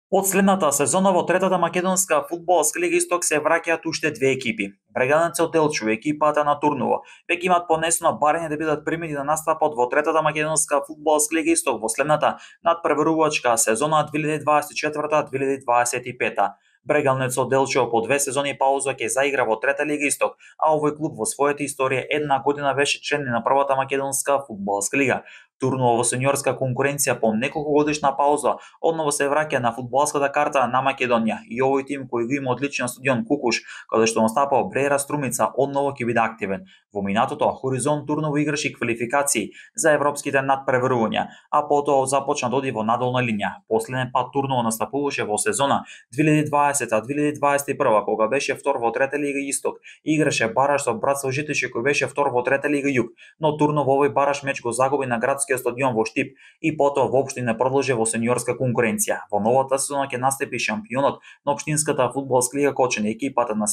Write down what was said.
Последната сезона во третата македонска фудбалска лига Исток се враќаат уште две екипи. Бреганец од Делчо, екипата на Турново, веќе имаат понесено барање да бидат примени да настапат во третата македонска фудбалска лига Исток во следната надпреварувачка сезона 2024-2025. Брегалнец од Делчо по 2 сезони пауза ќе заигра во трета лига Исток, а овој клуб во својата историја една година беше член на првата македонска фудбалска лига. Турново во сениорска конкуренција по неколку годишна пауза одново се враќа на фудбалската карта на Македонија и овој тим кој го има одличен стадион Кукуш, каде што настапал Брејра Струмица, одново ќе биде активен. Во минатото Хоризонт Турново играше квалификации за европските надпреварувања, а потоа започна да оди во надолна линија. Последен пат Турново настапуваше во сезона 2020-2021 кога беше втор во трета лига Исток и играше бараж со Братство Житеше кој беше втор во трета лига Југ, но Турново овој бараж меч го загуби на градскиот стадион во Штип и потоа воопшто не продолжи во сениорска конкуренција. Во новата сезона ќе настапи шампионот на општинската фудбалска лига Кочани, екипата на